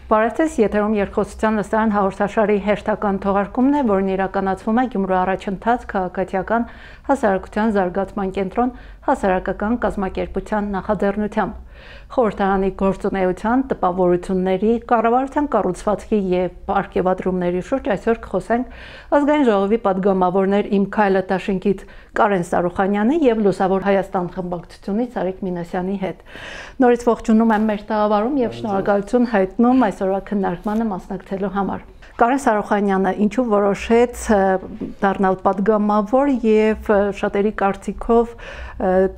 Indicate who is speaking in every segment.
Speaker 1: Բարևձեզ, եթերում երկխոսության լսարան հաղորդաշարի հերթական թողարկումն է, որն իրականացվում է Գյումրու առաջընթաց քաղաքացիական հասարակության զարգացման կենտրոն հասարակական կազմակերպության նախաձեռնությամբ։ Խորհրդարանի գործունեության, տպավորությունների, կառավարության կառուցվածքի և պարգևատրումների շուրջ այսօր կխոսենք Ազգային ժողովի պատգամավորներ Իմ քայլը դաշինքից Կարեն Սարուխանյանի և Լուսավոր Հայաստան խմբակցությունից Արիկ Մինասյանի հետ։ Նորից ողջունում եմ մեր տաղավարում և շնորհակալություն հայտնում այսօրվա քննարկմանը մասնակցելու համար։ Կարեն Սարուխանյանը ինչու որոշեց դառնալ պատգամավոր եւ շատերի կարծիքով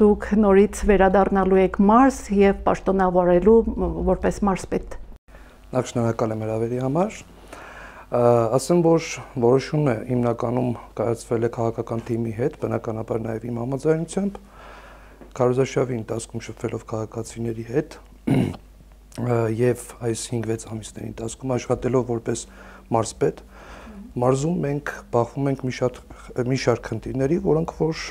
Speaker 1: դուք նորից վերադառնալու եք մարզ եւ պաշտոնավարելու որպես մարզպետ։
Speaker 2: Նախ շնորհակալ եմ հրավերի համար։ Ասեմ, որ որոշումը հիմնականում կայացվել է քաղաքական թիմի հետ, բնականաբար նաեւ իմ համաձայնությամբ, քարոզարշավի ընթացքում շփվելով քաղաքացիների հետ եւ այս 5-6 ամիսների ընթացքում աշխատելով որպես մարզպետ, մարզում մենք բախվում ենք մի շարք խնդիրների, որոնք որ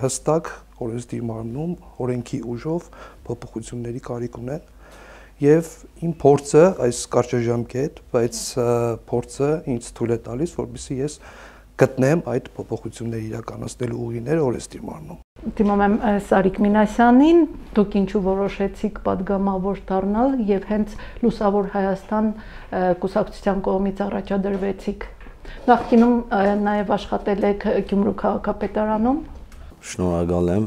Speaker 2: հստակ օրենսդիր մարմնում օրենքի ուժով փոփոխությունների կարիք ունեն եւ իմ փորձը այս կարճաժամկետ, բայց փորձը ինձ թույլ է տալիս, որպեսզի ես գտնեմ այդ փոփոխությունների իրականացնելու ուղիները օրենսդիր մարմնում։
Speaker 1: Դիմում եմ Արիկ Մինասյանին, դուք ինչու որոշեցիք պատգամավոր դառնալ եւ հենց Լուսավոր Հայաստան կուսակցության կողմից առաջադրվեցիք։ Նախկինում նաեւ աշխատել եք Գյումրու քաղաքապետարանում։
Speaker 3: Շնորհակալ եմ,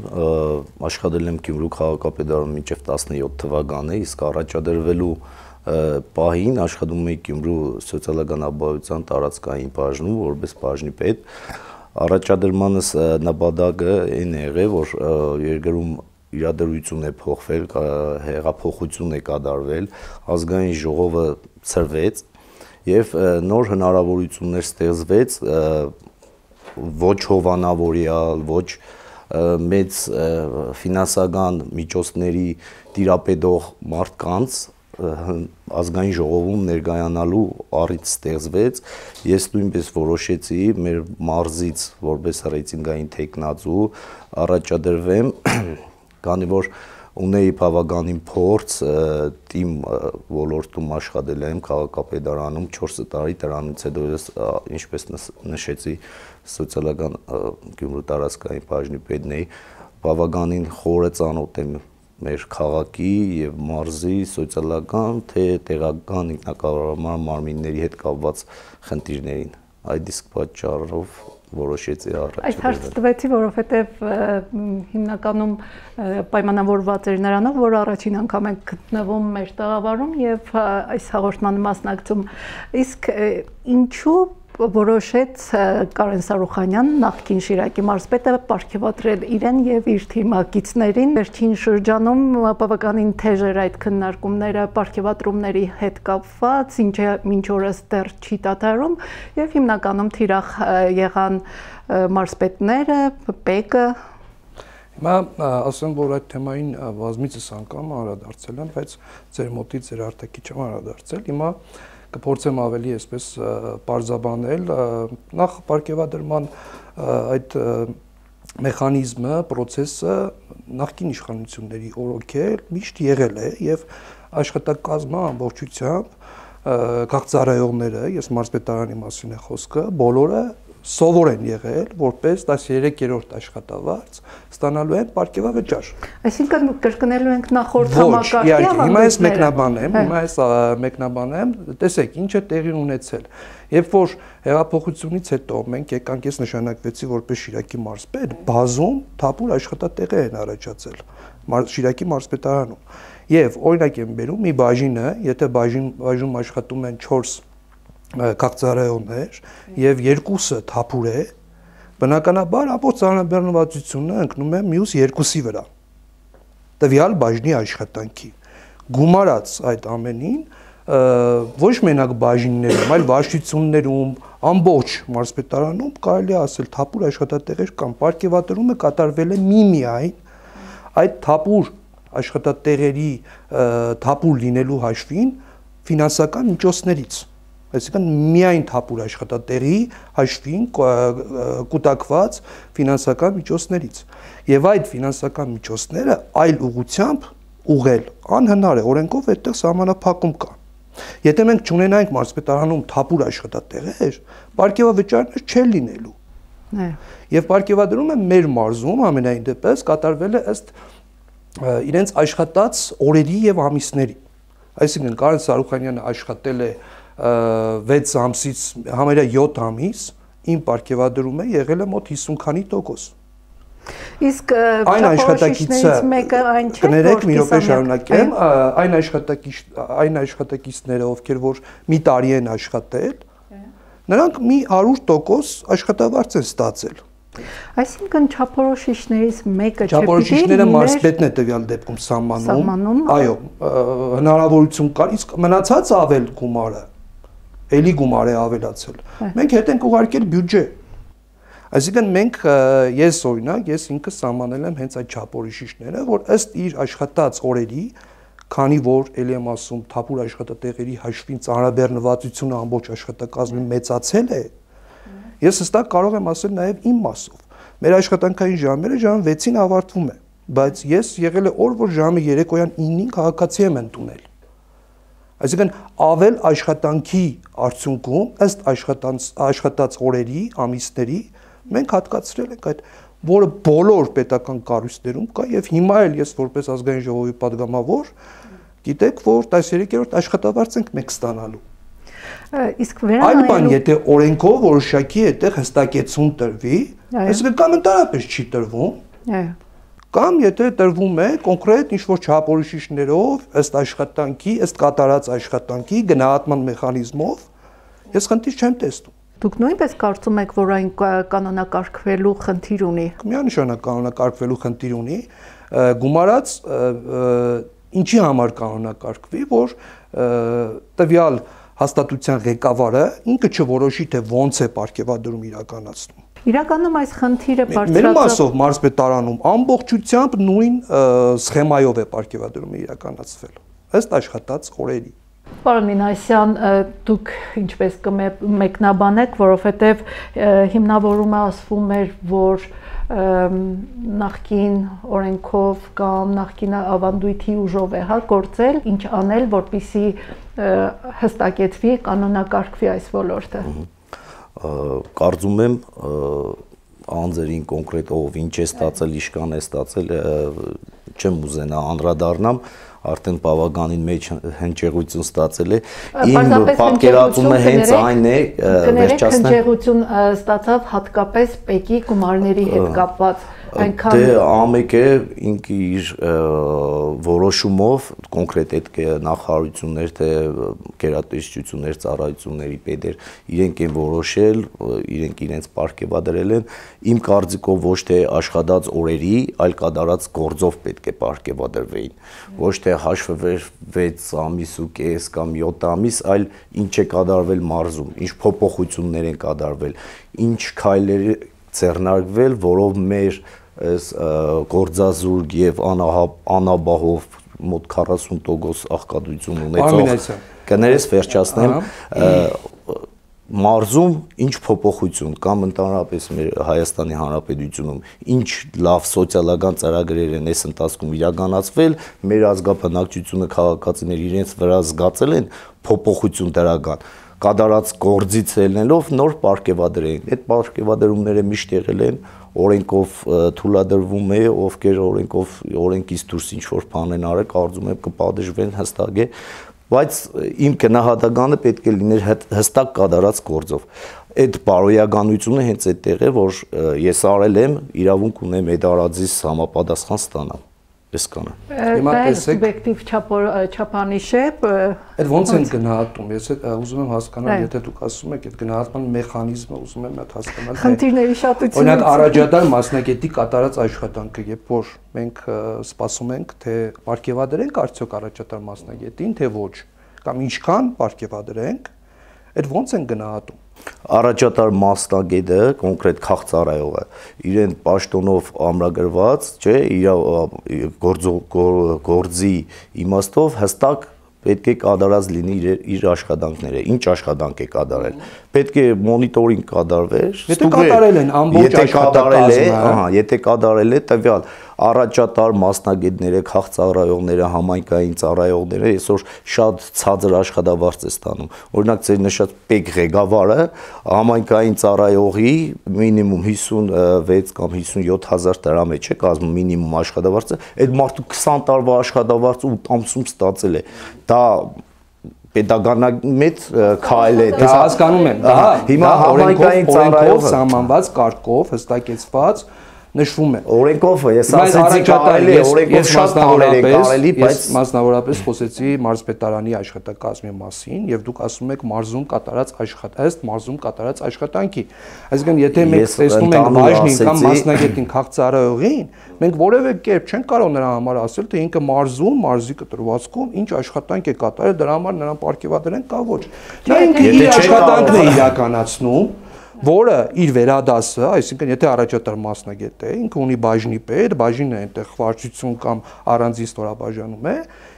Speaker 3: աշխատել եմ Գյումրու քաղաքապետարանում մինչև 17 թվականը, իսկ առաջադրվելու պահին աշխատում էի Գյումրու սոցիալական ապահովության տարածքային բաժնում որպես բաժնի պետ։ Առաջադրմանս նպատակը այն է եղել, որ երկրում իրադրություն է փոխվել, հեղափոխություն է կատարվել, ազգային ժողովը ցրվեց եւ նոր հնարավորություններ ստեղծվեց ոչ հովանավորյալ, ոչ մեծ ֆինանսական միջոցների տիրապետող մարդկանց ազգային ժողովում ներկայանալու առիթ ստեղծվեց, ես նույնպես որոշեցի մեր մարզից որպես ռեյտինգային թեկնածու առաջադրվեմ, քանի որ ունեի բավականին փորձ, թիմ ոլորտում աշխատել եմ քաղաքապետարանում 4 տարի, դրանից հետո ես ինչպես նշեցի սոցիալական Գյումրու տարածքային բաժնի պետն էի, բավականին խորը ծանոթ եմ մեր քաղաքի եւ մարզի սոցիալական թե տեղական ինքնակառավարման մարմինների հետ կապված խնդիրներին։ Այդ իսկ պատճառով որոշեցի առաջադրվել։
Speaker 1: Այս հարցը տվեցի, որովհետեւ հիմնականում պայմանավորված էր նրանով, որ առաջին անգամ ենք գտնվում մեր տաղավարում եւ այս հաղորդման մասնակցում։ Իսկ ինչու որոշեց Կարեն Սարուխանյան, նախկին Շիրակի մարզպետը, պարգևատրել իրեն եւ իր թիմակիցներին։ Վերջին շրջանում բավականին թեժ էր այդ քննարկումները պարգևատրումների հետ կապված, ինչը մինչ օրս դեռ չի դադարում եւ հիմնականում թիրախ եղան մարզպետները, ՊԵԿ-ը։
Speaker 2: Հիմա ասեմ, որ այդ թեմային բազմիցս անգամ անդրադարձել եմ, բայց ձեր մոտից ձեր արտաքի չեմ անդրադարձել։ Հիմա կփորձեմ ավելի այսպես պարզաբանել նախ պարգևադրման այդ մեխանիզմը, process-ը նախկին իշխանությունների օրոքել միշտ եղել է եւ աշխատակազմը ամբողջությամբ քաղաքացիները, ես մարզպետարանի մասին է խոսքը, բոլորը սովոր են եղել, որպես 13-րդ աշխատավարձ ստանալու են պարգևավճար։
Speaker 1: Այսինքն կրկնելու ենք նախորդ համակարգի
Speaker 2: Հիմա ես մեկնաբանեմ, տեսեք, ինչ է տեղի ունեցել։ Երբ որ հեղափոխությունից հետո մենք եկանք, ես նշանակվեցի որպես Շիրակի մարզպետ, բազում թափուր աշխատատեղեր են առաջացել Շիրակի մարզպետարանում։ Եվ օրինակ եմ բերում մի բաժինը, եթե բաժնում աշխատում են 4 քաղաքացիներ եւ 2-ը թափուր է, բնականաբար ամբողջ ծանրաբեռնվածությունը ընկնում է մյուս 2-ի վրա։ Տվյալ բաժնի աշխատանքի։ Գումարած այդ ամենին ոչ մենակ բաժիններում, այլ վարչություններում, ամբողջ մարզպետարանում կարելի է ասել թափուր աշխատատեղեր կան։ Պարգևատրումը կատարվել է միմիայն այդ թափուր աշխատատեղերի թափուր լինելու հաշվին ֆինանսական միջոցներից։ Այսինքն միայն թափուր աշխատատեղի հաշվին կուտակված ֆինանսական միջոցներից։ Եվ այդ ֆինանսական միջոցները այլ ուղղությամբ ուղղել անհնար է, օրենքով այդտեղ սահմանափակում կա։ Եթե մենք չունենայինք մարզպետարանում թափուր աշխատատեղեր, պարգևավճարներ չեն լինելու։ Եվ պարգևադրումը մեր մարզում ամենայն դեպս կատարվել է ըստ իրենց աշխատած օրերի եւ ամիսների։ Այսինքն Կարեն Սարուխանյանը աշխատել է 6 ամսից համարյա 7 ամիս, իմ պարգևադրումը եղել է մոտ 50 քանի տոկոս։
Speaker 1: Իսկ այն աշխատակիցը մեկը այն չէ,
Speaker 2: կներեք մի րոպե շարունակեմ, այն աշխատակիցները, ովքեր որ մի տարի են աշխատել, նրանք մի 100% աշխատավարձ են ստացել։
Speaker 1: Այսինքն չափորոշիչներից մեկը չէ,
Speaker 2: չափորոշիչները մարզպետն է տվյալ դեպքում սահմանում, այո, հնարավորություն կար, իսկ մնացած ավել գումարը, էլի գումար է ավելացել։ Մենք հետ ենք ուղարկել բյուջե։ Այսինքն մենք ես օրինակ ես ինքս սահմանել եմ հենց այդ չափորոշիչները, որ ըստ իր աշխատած օրերի, քանի որ ելի եմ ասում թափուր աշխատատեղերի հաշվին ծանրաբեռնվածությունը ամբողջ աշխատակազմի մեծացել է, ես հստակ կարող եմ ասել նաև իմ մասով։ Մեր աշխատանքային ժամերը ժամը 6-ին ավարտվում է, բայց ես եղել է օր, որ ժամը երեկոյան 9-ին քաղաքացի եմ ընդունել։ Այսինքն ավել աշխատանքի արդյունքում ըստ աշխատած օրերի, ամիսների մենք հատկացրել ենք այդ, որը բոլոր պետական կառույցներում կա եւ հիմա էլ ես որպես ազգային ժողովի падգամավոր գիտեք, որ 13-րդ աշխատավարձ ենք մենք ստանալու։
Speaker 1: Իսկ վերանայելու
Speaker 2: այլ բան, եթե օրենքով որոշակի այդտեղ հստակեցում տրվի, այսինքն կամ ընդհանրապես չի տրվում, կամ եթե տրվում է կոնկրետ ինչ-որ չափորոշիչներով, ըստ աշխատանքի, ըստ կատարած աշխատանքի գնահատման մեխանիզմով, ես խնդիր չեմ տեսնում։
Speaker 1: Դուք նույնպես կարծում եք, որ այն կանոնակարգվելու խնդիր ունի։
Speaker 2: Միանշանակ կանոնակարգվելու խնդիր ունի, գումարած ինչի համար կանոնակարգվի, որ տվյալ հաստատության ղեկավարը ինքը չորոշի, թե ոնց է պարգևադրում իրականացնում։
Speaker 1: Իրականում այս խնդիրը
Speaker 2: Մեր մասով մարզպետարանում ամբողջությամբ նույն սխեմայով է պարգևադրումը իրականացվել, ըստ աշխատած օրերի։
Speaker 1: Պարոն Մինասյան, դուք ինչպես կմեկնաբանեք, որովհետև հիմնավորումը ասվում էր, որ նախկին օրենքով կամ նախկին ավանդույթի ուժով է գործել, ինչ անել, որպեսզի հստակեցվի, կանոնակարգվի այս ոլորտը։
Speaker 3: Կարծում եմ անձերին կոնկրետ ով ինչ է ստացել, իշքան է ստացել, չեմ ուզենա անդրադառնամ, արդեն բավականին մեջ հնչեղություն ստացել է։ Իմ պատկերացումը հենց այն է,
Speaker 1: վերջացնեմ։ Հնչեղություն ստացավ հատկապես ՊԵԿ-ի գումարների հետ կապված։
Speaker 3: Դե ամեկը ինքը իր որոշումով կոնկրետ այդ նախարարություններ, թե գերատեսչություններ, ծառայությունների պետեր իրենք են որոշել, իրենք իրենց պարգևադրել են։ Իմ կարծիքով ոչ թե աշխատած օրերի, այլ կատարած գործով պետք է պարգևադրվեին։ Ոչ թե հաշվվեր 6 ամիս ու կես կամ 7 ամիս, այլ ինչ է կատարվել մարզում, ինչ փոփոխություններ են կատարվել, ինչ քայլեր ձեռնարկվել, որով մեր այս գործազուրկ եւ անաբահով մոտ 40% աղքատություն ունեցող կներես վերջացնեմ մարզում ինչ փոփոխություն կամ ընդհանրապես մեր Հայաստանի Հանրապետությունում ինչ լավ սոցիալական ծրագրեր են այս ընթացքում իրականացվել, մեր ազգաբնակչությունը քաղաքացիներ իրենց վրա զգացել են փոփոխություն դրական կատարած գործից ելնելով նոր պարգևադրեն։ Այդ պարգևադրումները միշտ եղել են օրենքով թույլատրվում է, ովքեր օրենքից դուրս ինչ-որ բան են արել, կարծում եմ կպատժվեն հստակ է, բայց իմ գնահատականը պետք է լիներ հստակ կատարած գործով։ Այդ բարոյականությունը հենց այդտեղ է, որ ես արել եմ, իրավունք ունեմ այդ արածից համապատասխան ստանալ։ Այսքանը։
Speaker 1: Հիմա տեսեք, սուբյեկտիվ չափանիշ է։
Speaker 2: Այդ ոնց են գնահատում։ Ես ուզում եմ հասկանալ, եթե դուք ասում եք, այդ գնահատման մեխանիզմը ուզում եմ հասկանալ։
Speaker 1: Խնդիրների շատությունը։
Speaker 2: Օրինակ առաջադար մասնագետի կատարած աշխատանքը, երբ որ մենք սպասում ենք, թե պարգևադրենք արդյոք առաջադար մասնագետին, թե ոչ, կամ ինչքան պարգևադրենք, այդ ոնց են գնահատում։
Speaker 3: Առաջատար մասնագետը, կոնկրետ քաղցարայողը, իրեն պաշտոնով ամրագրված, չէ, իր գործի իմաստով հստակ պետք է կատարած լինի իր աշխատանքները, ինչ աշխատանք է կատարել։ Պետք է մոնիտորինգ կատարվեր,
Speaker 2: եթե կատարել են ամբողջ աշխատակազմը,
Speaker 3: եթե կատարել է տվյալ առաջատար մասնագետները, քաղցաղրայողները, համայնքային ծառայողները այսօր շատ ցածր աշխատավարձ է ստանում։ Օրինակ ձեր նշած պետ ղեկավարը համայնքային ծառայողի մինիմում 56 կամ 57 հազար դրամ է, չէ՞, կազմում մինիմում աշխատավարձը, այդ մարդու 20 տարվա աշխատավարձը 8 ամսում ստացել է։ Դա պետականամետ քայլ է։
Speaker 2: Ես հասկանում եմ, դա հիմա օրենքով սահմանված կարգով հստակեցված նշվում է։
Speaker 3: Օրենքով ես ասացի կարելի է, օրենքով շատ բաներ է կարելի, բայց
Speaker 2: ես մասնավորապես խոսեցի մարզպետարանի աշխատակազմի մասին եւ դուք ասում եք մարզում կատարած ըստ մարզում կատարած աշխատանքի։ Այսինքն եթե մենք տեսնում ենք բաժնին կամ մասնագետին քաղցարայողին, մենք որևէ կերպ չենք կարող նրա համար ասել, թե ինքը մարզում, մարզի կտրվածքում ինչ աշխատանք է կատարել, դրա համար նրան պարգևատրենք կամ ոչ։ Նա ինքը իր աշխատանքն է իրականացնում, որը իր վերադասը, այսինքն եթե առաջատար մասնագետ է, ինքը ունի բաժնի պետ, բաժինը այնտեղ վարչություն կամ առանձին ստորաբաժանում է,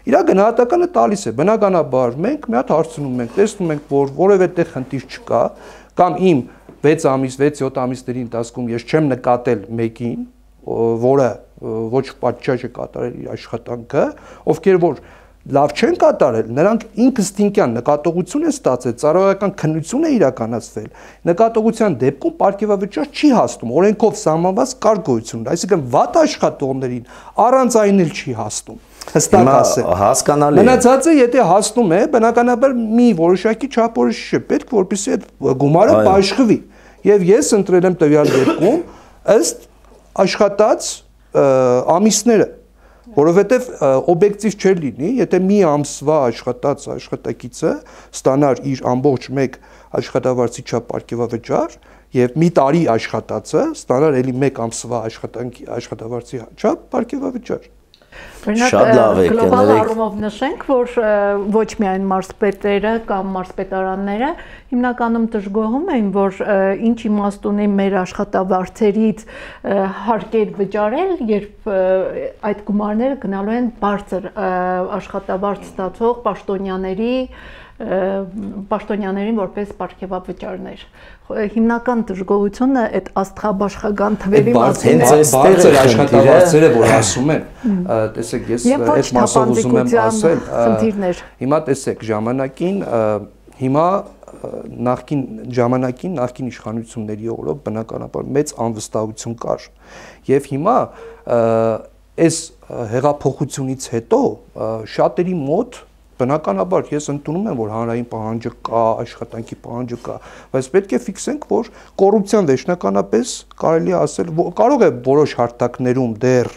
Speaker 2: իր գնահատականը տալիս է։ Բնականաբար մենք մի հատ հարցնում ենք, տեսնում ենք, որ որևէ տեղ խնդիր չկա, կամ իմ 6 ամիս, 6-7 ամիսների ընթացքում ես չեմ նկատել մեկին, որը ոչ պատշաճ է կատարել իր աշխատանքը, ովքեր որ լավ չեն կատարել, նրանք ինքնստինքյան նկատողություն են ստացել, ծառայական քննություն է իրականացվել, նկատողության դեպքում պարգևավճար չի հասնում, օրենքով սահմանված կարգ գոյություն ունի, այսինքն վատ աշխատողներին առանց այն էլ չի հասնում, հստակ ասեմ։
Speaker 3: Հասկանալի է։
Speaker 2: Մնացածը եթե հասնում է, բնականաբար մի որոշակի չափորոշիչ է պետք, որպեսզի այդ գումարը բաշխվի, եւ ես ընտրել եմ տվյալ դեպքում ըստ աշխատած ամիսները, որովհետև օբյեկտիվ չէր լինի, եթե մի ամսվա աշխատած աշխատակիցը ստանար իր ամբողջ մեկ աշխատավարձի չափ պարգևավճար եւ մի տարի աշխատածը ստանար էլի մեկ ամսվա աշխատավարձի չափ պարգևավճար։
Speaker 3: Շատ լավ է,
Speaker 1: գլոբալ առումով նշենք, որ ոչ միայն մարզպետերը կամ մարզպետարանները հիմնականում դժգոհում են, որ ինչ իմաստ ունի մեր աշխատավարձերից հարկեր վճարել, երբ այդ գումարները գնալու են բարձր աշխատավարձ ստացող պաշտոնյաներին որպես պարգևավճարներ։ Հիմնական դժգոհությունը այդ աստղաբաշխական թվերի
Speaker 2: մասին է։ Բարձր աշխատավարձերը, որ ասում են, տեսեք, ես այդ մասով ուզում եմ ասել, հիմա տեսեք, հիմա նախկին իշխանությունների օրոք բնականաբար մեծ անվստահություն կար եւ հիմա այս հեղափոխությունից հետո շատերի մոտ բնականաբար ես ընդունում եմ, որ հանրային պահանջը կա, աշխատանքի պահանջը կա, բայց պետք է ֆիքսենք, որ կոռուպցիան վերջնականապես կարելի է ասել, կարող է որոշ հարթակներում դեռ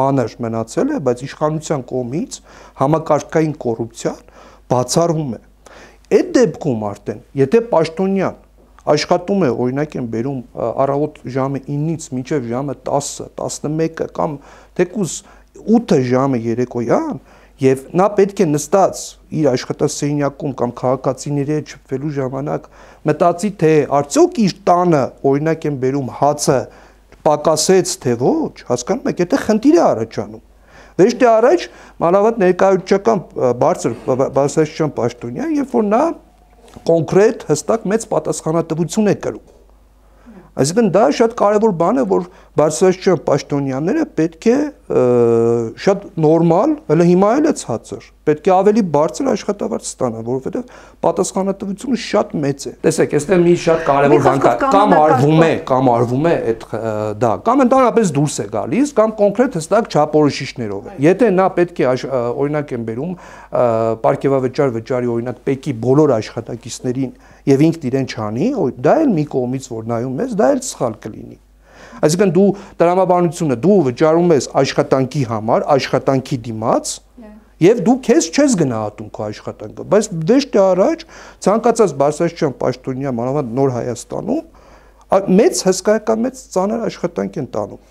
Speaker 2: մանր մնացել է, բայց իշխանության կողմից համակարգային կոռուպցիան բացառվում է։ Այդ դեպքում արդեն, եթե պաշտոնյան աշխատում է, օրինակ եմ բերում առավոտ ժամը 9-ից մինչև ժամը 10-ը, 11-ը կամ թեկուզ 8 ժամը երեկոյան, եւ նա պետք է նստած իր աշխատասենյակում կամ քաղաքացիների հետ շփվելու ժամանակ մտածի, թե արդյոք իր տանը, օրինակ եմ բերում հացը պակասեց, թե ոչ, հասկանում եք, եթե խնդիր է առաջանում։ Վերջի առաջ մանավանդ ներկայացուցչական բարձրաստիճան պաշտոնյա, երբ որ նա կոնկրետ հստակ մեծ պատասխանատվություն է կրում։ Այսինքն դա շատ կարևոր բան է, որ բարձրաստիճան պաշտոնյաները պետք է շատ նորմալ, հələ հիմա էլ է ցածր, պետք է ավելի բարձր աշխատավարձ ստանան, որովհետև պատասխանատվությունը շատ մեծ է։ Տեսեք, այստեղ մի շատ կարևոր բան կա, կամ արվում է այդ դա, կամ ընդհանրապես դուրս է գալիս, կամ կոնկրետ հստակ չափորոշիչներով է։ Եթե նա պետք է օրինակ եմ բերում պարգևավճար վճարի օրինակ ՊԵԿ-ի բոլոր աշխատակիցներին եւ ինքն իրեն չանի, դա էլ մի կողմից որ նայում ես, դա էլ սխալ կլինի։ Այսինքն դու տրամաբանությունը դու վճարում ես աշխատանքի համար, աշխատանքի դիմաց, եւ դու քեզ չես գնահատում քո աշխատանքը, բայց դեշտե առաջ ցանկացած բարձրաստիճան պաշտոնյա մանավանդ նոր Հայաստանում մեծ հսկայական մեծ ծանր աշխատանք են տանում։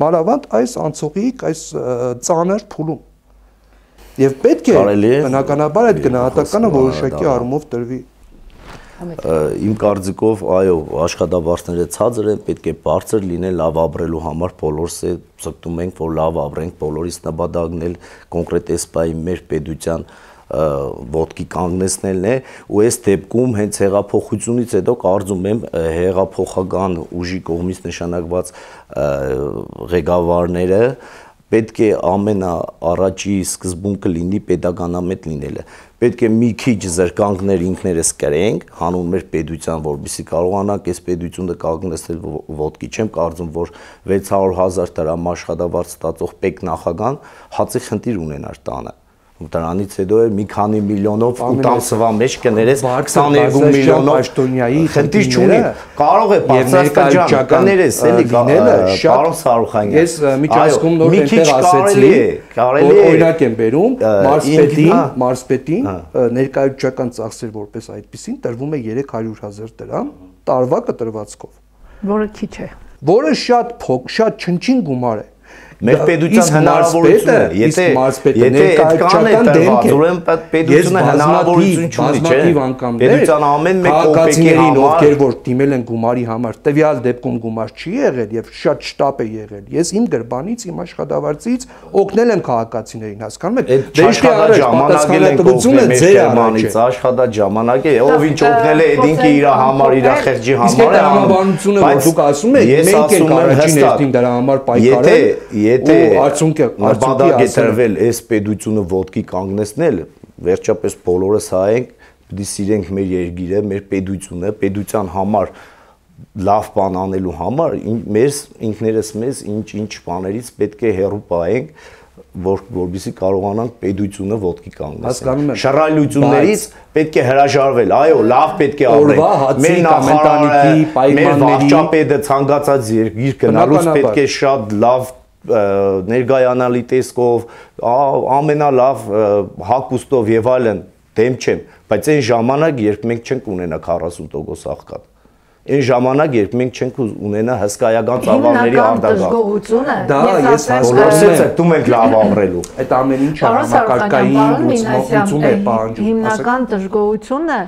Speaker 2: Մանավանդ այս անցողիկ, այս ծանր փուլում։ Եվ պետք է բնականաբար այդ գնահատականը որոշակի առումով տրվի։
Speaker 3: Իմ կարծիքով, այո, աշխատավարձները ցածր են, պետք է բարձր լինեն լավ ապրելու համար, բոլորս է ցկտում ենք, որ լավ ապրենք, բոլորիս նպատակն էլ կոնկրետ էսպայի մեր պետության ոտքի կանգնեցնելն է ու այս դեպքում հենց հեղափոխությունից հետո կարծում եմ հեղափոխական ուժի կողմից նշանակված ղեկավարները պետք է ամենաառաջի սկզբունքը լինի պետականամետ լինելը։ Պետք է մի քիչ զրկանքներ ինքներս կրենք հանուն մեր պետության, որպեսզի կարողանանք այս պետությունը կանգնեցնել ոտքի։ Չեմ կարծում, որ 600,000 դրամ աշխատավարձ ստացող պետնախագահան հացի խնդիր ունենար տանը։ Դրանից հետո է մի քանի միլիոնով ու տանցվա մեջ կներես 22 միլիոնով պաշտոնյայի խնդիր չունի։ Կարող է բարձրացնել կներես էլի պարոն Սարուխանյան։
Speaker 2: Ես միջազգում նոր այնտեղ ասեցի, որ օրինակ եմ բերում մարզպետին ներկայացական ծախսեր որպես այդպեսին տրվում է 300,000 դրամ տարվա կտրվածքով,
Speaker 1: որը քիչ է,
Speaker 2: որը շատ չնչին գումար է։
Speaker 3: Մեր պետության հնարավորությունը, եթե ներկայացական դեմք է, ուրեմն պետությունը հնարավորություն չունի, չէ՞։ Պետության ամեն մեկ կոպեկի
Speaker 2: ովքեր որ դիմել են գումարի համար, տվյալ դեպքում գումար չի եղել եւ շատ շտապ է եղել։ Ես իմ գրբանից, իմ աշխատավարձից օգնել եմ քաղաքացիներին, հասկանում եք։
Speaker 3: Դեշտի առաջ պատասխանատվությունը ձեր արմանից, աշխատած ժամանակ է, ով ինչ օգնել է, այդ ինքը իր համար, իր խեղճի համար է անում։
Speaker 2: Բայց դուք ասում եք, մենք ենք առաջին հերթին դրա համար պայքարել։
Speaker 3: Եթե նպատակ է տրվել այս պետությունը ոտքի կանգնեցնել, վերջապես բոլորս հայենք, պիտի սիրենք մեր երկիրը, մեր պետությունը, պետության համար լավ բան անելու համար մեր ինքներս մեզ ինչ բաներից պետք է հեռու պահենք, որպեսզի կարողանանք պետությունը ոտքի կանգնեցնել։ Շռայլություններից պետք է հրաժարվել, այո, լավ պետք է ապրենք։ Մեր նախարարը, մեր վարչապետը ցանկացած երկիր գնալուց պետք է շատ լավ ներգայանալի տեսքով, ամենալավ հագուստով եւ այլն դեմ չեմ, բայց այն ժամանակ, երբ մենք չենք ունենա 40% աղքատ, այն ժամանակ, երբ մենք չենք ունենա հսկայական ծավալների արտագաղթ, դա ես հասկանում եմ, դու մենք լավ ապրելու,
Speaker 2: այդ ամեն ինչը համակարգային լուծում է պահանջում։
Speaker 1: Հիմնական դժգոհությունը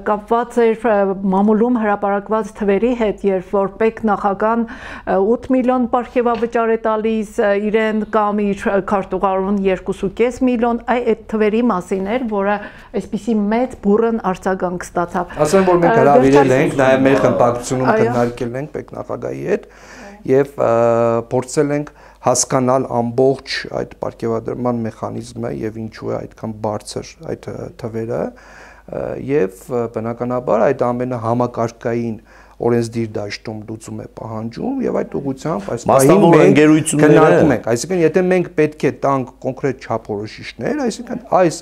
Speaker 1: կապված էր մամուլում հրապարակված թվերի հետ, երբ որ պետնախագահան 8 միլիոն պարգևավճար է տալիս իրեն կամ իր քարտուղարուն 2.5 միլիոն, այդ թվերի մասին էր, որը այսպիսի մեծ բուրըն արձագանք ստացավ։
Speaker 2: Ասեմ, որ մենք հրավիրել ենք նաև մեր խմբակցությունում քննարկել ենք պետնախագահի հետ եւ փորձել ենք հասկանալ ամբողջ այդ պարգևադրման մեխանիզմը եւ ինչու է այդքան բարձր այդ թվերը եւ բնականաբար այդ ամենը համակարգային օրենսդիր դաշտում լուծում է պահանջում եւ այդ ուղղությամբ այս
Speaker 3: պահին մենք
Speaker 2: քննարկում ենք, այսինքն եթե մենք պետք է տանք կոնկրետ չափորոշիչներ, այսինքն այս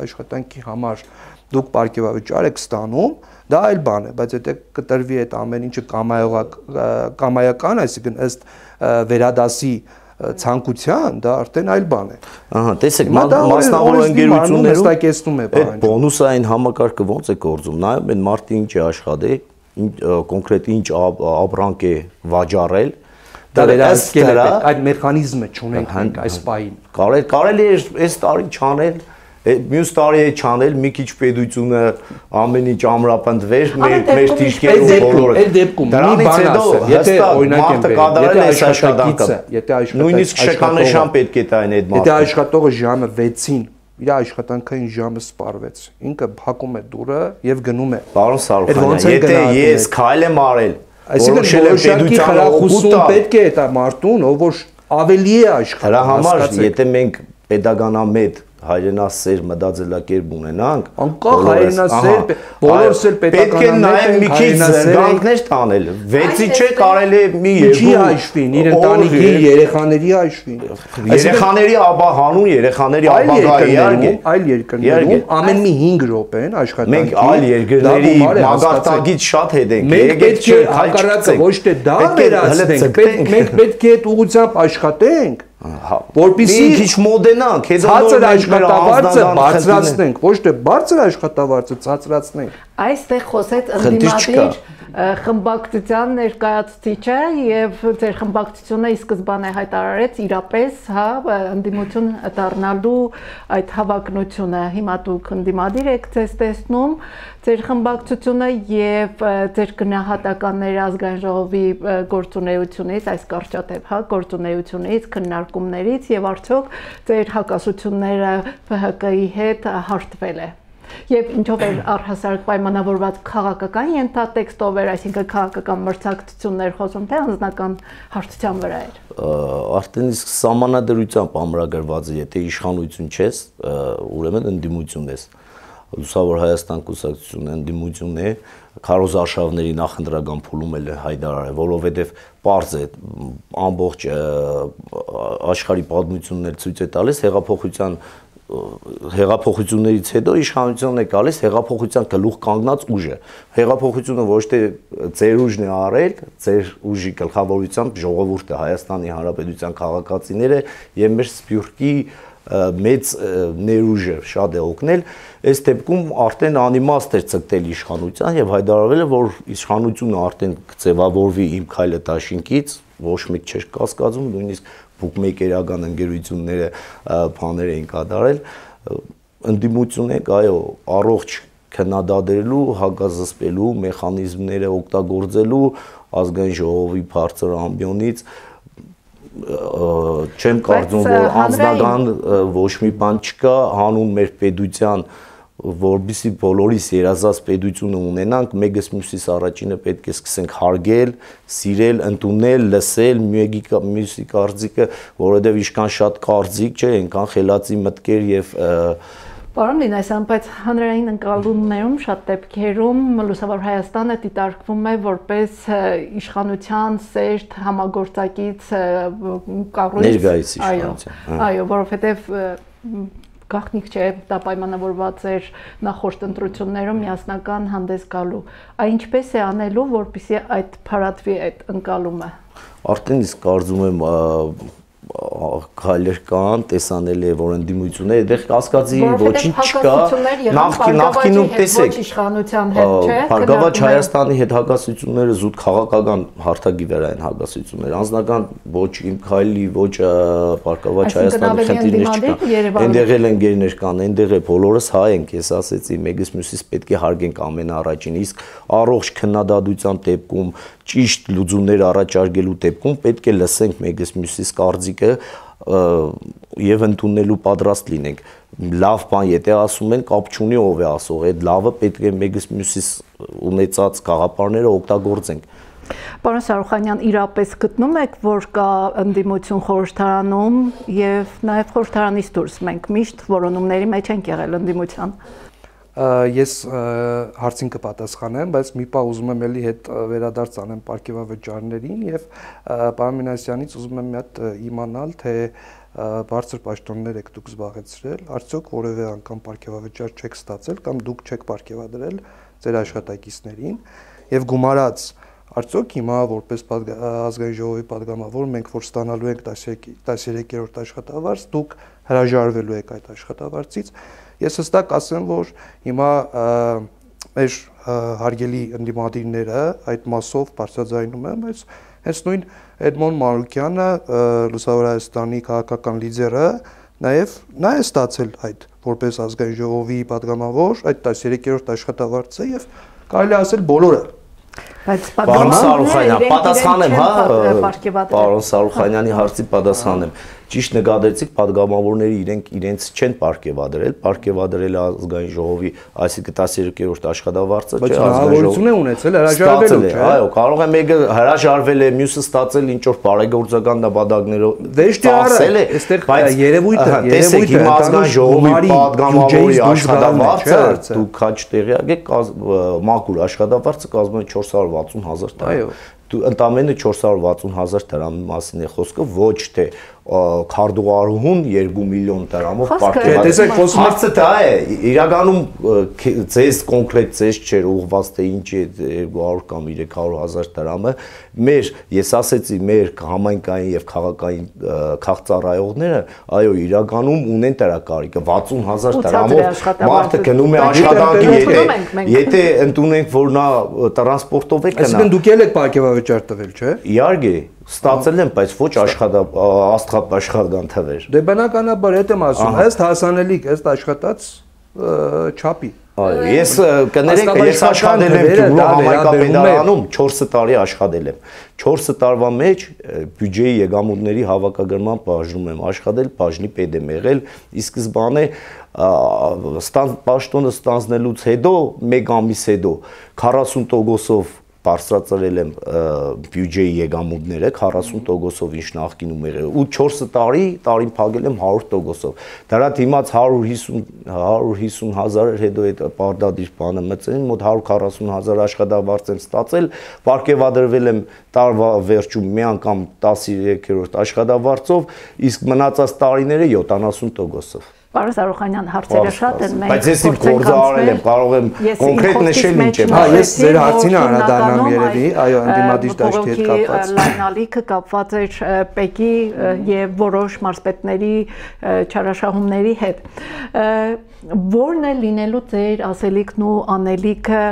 Speaker 2: աշխատանքի համար դուք պարգևավճար եք ստանում, դա այլ բան է, բայց եթե կտրվի այդ ամեն ինչը կամայական, այսինքն ըստ վերադասի ցանկության, դա արդեն այլ բան է։
Speaker 3: Ահա, տեսեք, մասնավոր ընկերություններում
Speaker 2: հստակեցնում է
Speaker 3: բանը։ Այդ բոնուսային համակարգը ոնց է գործում, նայում են մարդը ինչ է աշխատել, կոնկրետ ինչ ապրանք է վաճառել,
Speaker 2: դա վերահսկել է, այդ մեխանիզմը չունենք մենք այս պահին։
Speaker 3: Կարելի է այս տարի չանել, մյուս տարի է չանել, մի քիչ պետությունը ամեն ինչ ամրապնդվեր, մեր դիրքերում բոլորը։
Speaker 2: Այդ դեպքում մի բան ասեմ, եթե օրինակ եմ
Speaker 3: կատարել այս աշխատանքը, նույնիսկ շքանշան պետք է տային այդ մարդը։
Speaker 2: Եթե աշխատողը ժամը 6-ին իր աշխատանքային ժամը սպառվեց, ինքը փակում է դուռը եւ գնում է։
Speaker 3: Պարոն Սարուխանյան, եթե ես քայլ եմ արել,
Speaker 2: այսինքն որոշակի խրախուսում պետք է այդ մարդուն, ով որ ավելի է աշխատում։
Speaker 3: Դրա համար, եթե մենք pedagogamետ հայրենասեր մտածելակերպ ունենանք,
Speaker 2: անկախ հայրենասեր, բոլորս էլ
Speaker 3: պետականամետ մի քիչ զարգանքներ տանել, 6-ի չէ կարելի է մի
Speaker 2: երկու հաշվին, իր ընտանիքի երեխաների հաշվին,
Speaker 3: երեխաների հանուն երեխաների ապագայի
Speaker 2: այլ երկրներում ամեն մի 5 րոպեն աշխատանքի
Speaker 3: մենք այլ երկրների մագարտակից շատ հետ ենք,
Speaker 2: մենք պետք է հակառակը ոչ թե դա վերացնենք, մենք պետք է այդ ուղղությամբ աշխատենք, որպեսզի
Speaker 3: քիչ մոդենանք,
Speaker 2: ցածր աշխատավարձը բարձրացնենք, ոչ թե բարձր աշխատավարձը ցածրացնենք։
Speaker 1: Այստեղ խոսեց ընդդիմադիր խմբակցության ներկայացուցիչը եւ ձեր խմբակցությունը ի սկզբանե հայտարարեց իրապես, հա, ընդդիմություն դառնալու այդ հավակնությունը։ Հիմա դուք ընդդիմադիր եք ձեզ տեսնում, ձեր խմբակցությունը եւ ձեր գնահատականները ազգային ժողովի գործունեությունից, այս կարճատև, հա, գործունեությունից, քննարկումներից եւ արդյոք ձեր հակասությունները ՀՀԿ-ի հետ հարթվել է։ Եվ ինչով էր առհասարակ պայմանավորված քաղաքական ենթատեքստով էր, այսինքն քաղաքական մրցակցություններ խոսում, թե անձնական հարթության վրա էր։
Speaker 3: Արդեն իսկ սահմանադրությամբ ամրագրված է, եթե իշխանություն չես, ուրեմն ընդդիմություն ես։ Լուսավոր Հայաստան կուսակցությունը ընդդիմություն է, քարոզարշավների նախընտրական փուլում էլ հայտարարել, որովհետև պարզ է ամբողջ աշխարհի պատմություններ ցույց է տալիս հեղափոխություններից հետո իշխանությունն է գալիս հեղափոխության գլուխ կանգնած ուժը։ Հեղափոխությունը ոչ թե ձեր ուժն է արել, ձեր ուժի գլխավորությամբ ժողովուրդը, Հայաստանի Հանրապետության քաղաքացիները եւ մեր սփյուռքի մեծ ներուժը շատ է օգնել, այս դեպքում արդեն անիմաստ էր ցկտել իշխանության եւ հայտարարվել է, որ իշխանությունը արդեն կձևավորվի իմ քայլը դաշինքից, ոչ մեկ չէր կասկածում, նույնիսկ բուկմեյքերական ընկերությունները բաներ էին կատարել, ընդդիմություն եք, այո, առողջ քննադատելու, հակազսպելու մեխանիզմները օգտագործելու ազգային ժողովի բարձր ամբիոնից չեմ կարծում, որ անձնական ոչ մի բան չկա, հանուն մեր պետության, որբիսի բոլորիս երազած պետությունը ունենանք, մեկս մյուսից առաջինը պետք է սկսենք հարգել, սիրել, ընդունել, լսել, մյուսի կարծիքը, որովհետև ինչքան շատ կարծիք չէ, այնքան խելացի մտքեր եւ
Speaker 1: Պարոն Լինասյան, բայց հանրային ընկալումներում շատ դեպքերում Լուսավոր Հայաստանը դիտարկվում է որպես իշխանության սերտ համագործակից կառույց։
Speaker 3: Ներկայիս իշխանության։
Speaker 1: Այո, որովհետև գաղտնիք չէ, դա պայմանավորված էր նախորդ ընտրություններում միասնական հանդես գալու։ Այն ինչպես է անելու, որպեսզի այդ փարատվի այդ ընկալումը։
Speaker 3: Արդեն իսկ կարծում եմ քայլեր կան, տեսանել է, որ ընդդիմությունները, այդտեղ կասկածի ոչինչ չկա, նախկինում տեսեք, Բարգավաճ Հայաստանի հետ հակասությունները զուտ քաղաքական հարթակի վրա են հակասությունները, անձնական ոչ իմ քայլի, ոչ Բարգավաճ Հայաստանի խնդիրներ չկան, այնտեղ էլ ընկերներ կան, այնտեղ է բոլորս հայ ենք, ես ասեցի, մեկս մյուսից պետք է հարգենք ամենաառաջին, իսկ առողջ քննադատության դեպքում, ճիշտ լուծումներ առաջարկելու դեպքում պետք է լսենք մեկս մյուսից կարծիքը եւ ընդունելու պատրաստ լինենք։ Լավ բան, եթե ասում են, կապ չունի ով է ասող, այդ լավը պետք է մեկս մյուսից ունեցած գաղափարները օգտագործենք։
Speaker 1: Պարոն Սարուխանյան, իրապես գտնում եք, որ կա ընդդիմություն խորհրդարանում եւ նաեւ խորհրդարանից դուրս մենք միշտ որոնումների մեջ ենք եղել ընդդիմության։
Speaker 2: Ես հարցին կպատասխանեմ, բայց մի պահ ուզում եմ էլի հետ վերադարձ անեմ պարգևավճարներին եւ պարոն Մինասյանից ուզում եմ մի հատ իմանալ, թե բարձր պաշտոններ եք դուք զբաղեցրել, արդյոք որևէ անգամ պարգևավճար չեք ստացել կամ դուք չեք պարգևադրել ձեր աշխատակիցներին եւ գումարած արդյոք հիմա որպես ազգային ժողովի падգամավոր մենք որ ստանալու ենք 13-րդ աշխատավարձ, դուք հրաժարվելու եք այդ աշխատավարձից։ Ես հստակ ասեմ, որ հիմա մեր հարգելի ընդդիմադիրները այդ մասով բարձրաձայնում են, բայց հենց նույն Էդմոն Մանուկյանը, Լուսավոր Հայաստանի քաղաքական լիդերը, նաև նա է ստացել այդ որպես ազգային ժողովի падգամավոր այդ 13-րդ աշխատավարձը եւ կարելի ասել բոլորը։
Speaker 3: Պարոն Սարուխանյան, պատասխանեմ, հա, պարոն Սարուխանյանի հարցի պատասխանեմ։ Ճիշտ նկատեցիք, падգամավորները իրենց չեն պարգևադրել, պարգևադրել ազգային ժողովի, այսինքն 13-րդ աշխատավարձը,
Speaker 2: չէ, հնարավորություն է ունեցել հրաժարվելու, չէ։
Speaker 3: Այո, կարող է մեկը հրաժարվել է, մյուսը ստացել ինչ որ բարեգործական նպատակներով ծախսել է,
Speaker 2: այստեղ երևույթը,
Speaker 3: տեսեք, հիմա ազգային ժողովի падգամավորի աշխատավարձը դուք քաչ տեղյակ եք, մաքուր աշխատավարձը կազմում է 460,000 տաղ։ Ընդամենը 460,000 դրամի մասին է խոսքը, ոչ թե քարտուղարուհուն 2 միլիոն դրամով
Speaker 2: Տեսեք,
Speaker 3: խոսքը դա է, իրականում ձեզ կոնկրետ ձեզ չէր ուղղված թե ինչ է 200 կամ 300,000 դրամը, ես ասեցի, մեր համայնքային եւ քաղաքային քաղաքծառայողները, այո, իրականում ունեն դրա կարիքը 60,000 դրամով մարդը գնում է աշխատանքի, եթե ընդունենք, որ նա տրանսպորտով է գնա։
Speaker 2: Այսինքն դուք եք պարգևավճար տվել, չէ՞։
Speaker 3: Իհարկե, ստացել եմ, բայց ոչ աշխատական թվեր։
Speaker 2: Դե բնականաբար այդ եմ ասում, ըստ հասանելիք, ըստ աշխատած չափի։
Speaker 3: Այո, ես կներեք, ես աշխատել եմ Գյումրու համայնքապետարանում 4 տարի աշխատել եմ։ 4 տարվա մեջ բյուջեի եկամուտների հավաքագրման բաժնում եմ աշխատել, բաժնի պետ եմ եղել, ի սկզբանե պաշտոնը ստանձնելուց հետո, 1 ամիս հետո 40%-ով բարձրացրել եմ բյուջեի եկամուտները 40%-ով ինչ նախկինում եղել ու 4 տարին փակել եմ 100%-ով։ Դրա դիմաց 150,000 հետո այդ պարտադիր բանը մտցրին, մոտ 140,000 աշխատավարձ եմ ստացել, պարգևադրվել եմ տարվա վերջում մի անգամ 13-րդ աշխատավարձով, իսկ մնացած տարիները 70%-ով։
Speaker 1: Պարոն Զարուխանյան, հարցերը շատ են,
Speaker 3: բայց ես իմ գործը արել եմ, կարող եմ կոնկրետ նշել ինչ եմ
Speaker 2: արել։ Ես ձեր հարցին անդրադառնամ երևի, այո, ընդդիմադիր դաշտի հետ կապված։
Speaker 1: Լայնալիքը կապված էր ՊԵԿ-ի եւ որոշ մարզպետների չարաշահումների հետ։ Որն է լինելու ձեր ասելիքն ու անելիքը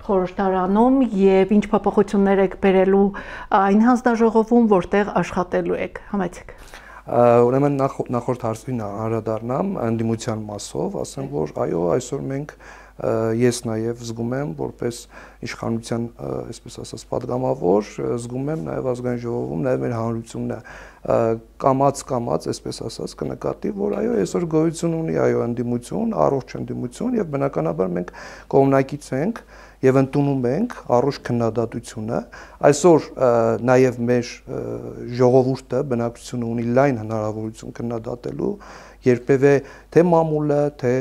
Speaker 1: խորհրդարանում եւ ինչ փոփոխություններ եք բերելու այն հանձնաժողովում, որտեղ աշխատելու եք։ Համեցեք։
Speaker 2: Ուրեմն նախորդ հարցին անդրադառնամ ընդդիմության մասով, ասեմ, որ այո, այսօր մենք ես նաև զգում եմ որպես իշխանության, այսպես ասած, падգամավոր, զգում եմ նաև ազգային ժողովում, նաև մեր հանրությունը կամաց, այսպես ասած, կնկատի, որ այո, այսօր գոյություն ունի այո ընդդիմություն, առողջ ընդդիմություն եւ բնականաբար մենք կողմնակից ենք եւ ընդունում ենք առողջ քննադատությունը։ Այսօր նաև մեր ժողովուրդը բնակչությունը ունի լայն հնարավորություն քննադատելու, երբևէ թե մամուլը, թե